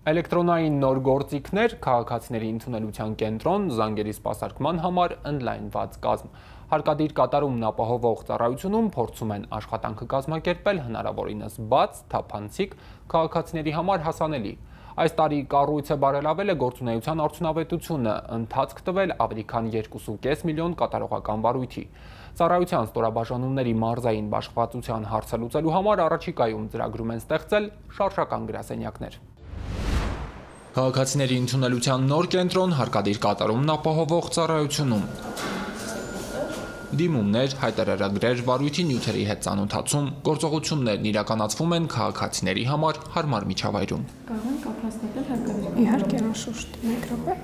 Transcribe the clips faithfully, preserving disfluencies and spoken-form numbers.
Էլեկտրոնային նոր գործիքներ, քաղաքացիների ընդունելության կենտրոն, զանգերի սպասարկման համար ընդլայնված կազմ։ Հարկադիր կատարումն ապահովող ծառայությունում փորձում են աշխատանքը կազմակերպել հնարավորինս բաց, թափանցիկ, քաղաքացիների համար հասանելի։ Այս տարի կառույցը բարելավել է գործունեության արդյունավետությունը, ընթացք տվել ավելի քան երկու կόμma պենս միլիոն կատարողական վարույթի։ Ծառայության ստորաբաժանումների մարզային բաշխվածության հարցը լուծելու համար առաջիկայում ծրագրում են ստեղծել շարժական գրասենյակներ։ Քաղաքացիների ընդունելության նոր կենտրոն, հարկադիր կատարումն ապահովող ծառայությունում։ Դիմումներ, հայտարարագրեր, վարույթի նյութերի հետ ծանոթացում, գործողություններն իրականացվում են քաղաքացիների համար հարմար միջավայրում։ Կարող են կապ հաստատել հարկադիր։ Իհարկե, անշուշտ, մեկ րոպե։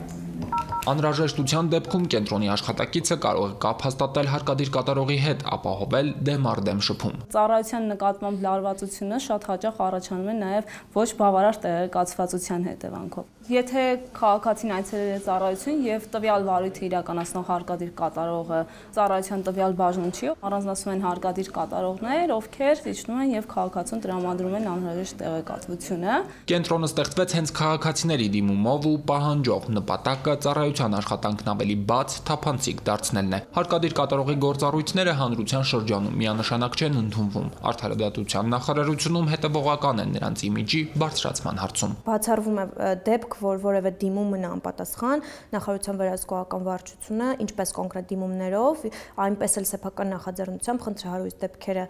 Անհրաժեշտության դեպքում կենտրոնի աշխատակիցը կարող է կապ հաստատել հարկադիր կատարողի հետ, ապահովել դեմ առ դեմ շփում։ Ծառայության նկատմամբ լարվածությունը շատ հաճախ առաջանում է նաև ոչ բավարար տեղեկացվածության հետևանքով։ Եթե քաղաքացին այցելել է ծառայություն եւ տվյալ վարույթը իրականացնող հարկադիր կատարողը ծառայության տվյալ բաժնում չի, առանձնացվում են հարկադիր կատարողներ, ովքեր իջնում են եւ քաղաքացուն տրամադրում են անհրաժեշտ տեղեկատվությունը։ Կենտրոնը ստեղծվեց հենց քաղաքացիների դիմումով ու պահանջով, նպատակը ծառայության աշխատանքն ավելի բաց, թափանցիկ դարձնելն է։ Հարկադիր կատարողի գործառույթները հանրության շրջանում միանշանակ չեն ընդունվում։ Արդարադատության նախարարությունում հետևողական են նրանց իմիջի բարձրացման հարցում։ Բացառվում է դեպք, որ որևէ դիմում մնա անպատասխան, նախարարության վերահսկողական վարչությունը, ինչպես կոնկրետ դիմումներով, այնպես էլ սեփական նախաձեռնությամբ խնդրահարույց դեպքերը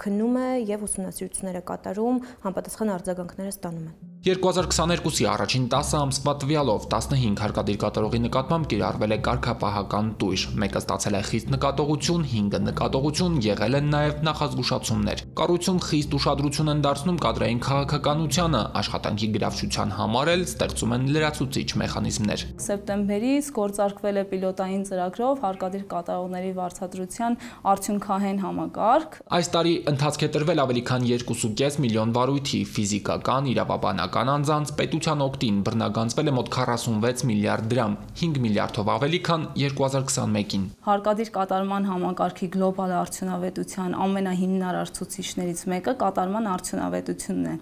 քննում է եւ ուսումնասիրությունները կատարում, անպատասխան արձագանքները ստանում են։ երկու հազար քսաներկուսի առաջին տասը ամսվա տվյալով տասնհինգ հարկադիր կատարողի նկատմամբ կիրառվել է կարգապահական տույժ, մեկը ստացել է խիստ նկատողություն, հինգը նկատողություն, եղել են նաև նախազգուշացումներ։ Կառույցում խիստ ուշադրություն են դարձնում կադրային քաղաքականությանը, աշխատանքի գրավչության համար էլ ստեղծում են լրացուցիչ մեխանիզմներ։ Սեպտեմբերից գործարկվել է պիլոտային ծրագրով հարկադիր կատարողների վարձատրության արդյունքահեն համակարգ։ Այս տարի ընթացք է տրվել ավելի քան երկու կόμma պենս միլիոն վարույթի, ֆիզիկական, իրավաբանական անձանց պետության օգտին բռնագանձվել է մոտ քառասունվեց միլիարդ դրամ, հինգ միլիարդով ավելի քան երկու հազար քսանմեկին։ Հարկադիր կատարման համակարգի գլոբալ արդյունավետության ամենահիմնարար ցուցիչներից մեկը կատարման արդյունավետությունն է։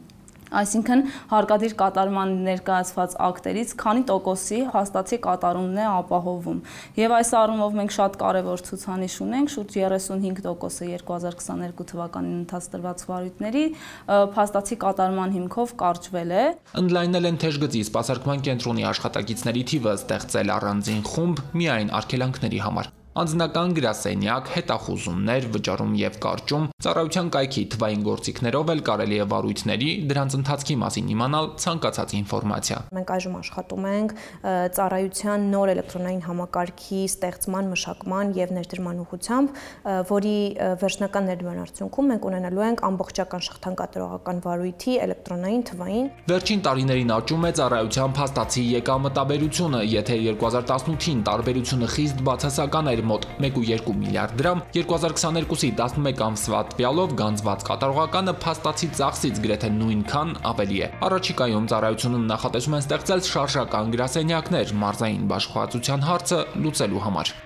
Այսինքն հարկադիր կատարման ներկայացված ակտերից քանի տոկոսի հաստատի կատարումն է ապահովում։ Եվ այս առումով մենք շատ կարևոր ցուցանիշ ունենք, շուրջ երեսունհինգ տոկոսը երկու հազար քսաներկու թվականին ընթաց տրված վարույթների հաստատի կատարման հիմքով կարճվել է։ Ընդլայնել են թեժգծի սպասարկման կենտրոնի աշխատակիցների թիվը, ստեղծել առանձին խումբ միայն արգելանքների համար։ Անձնական գրասենյակ, հետախուզումներ, վճարում եւ կարճում, ծառայության կայքի թվային գործիքներով էլ կարելի է վարույթների, դրանց ընթացքի մասին իմանալ ցանկացած ինֆորմացիա։ Մենք այժմ աշխատում ենք ծառայության նոր էլեկտրոնային համակարգի ստեղծման, մշակման եւ ներդրման ուղղությամբ, որի վերջնական ներդրման արդյունքում մենք ունենալու ենք ամբողջական շղթան կատարողական վարույթի էլեկտրոնային թվային։ Վերջին տարիներին աճում է ծառայության փաստացի եկամտաբերությունը, եթե երկու հազար տասնութին տարբերությունը խիստ բացասական էր մոտ մեկ կόμma երկու միլիարդ դրամ, երկու հազար քսաներկուսի տասնմեկ ամսվա տվյալով գանձված կատարողականը փաստացի ծախսից գրեթե նույնքան ավելի է։ Առաջիկայում ծառայությունում նախատեսում են ստեղծել շարժական գրասենյակներ մարզային բաշխվածության հարցը լուծելու համար։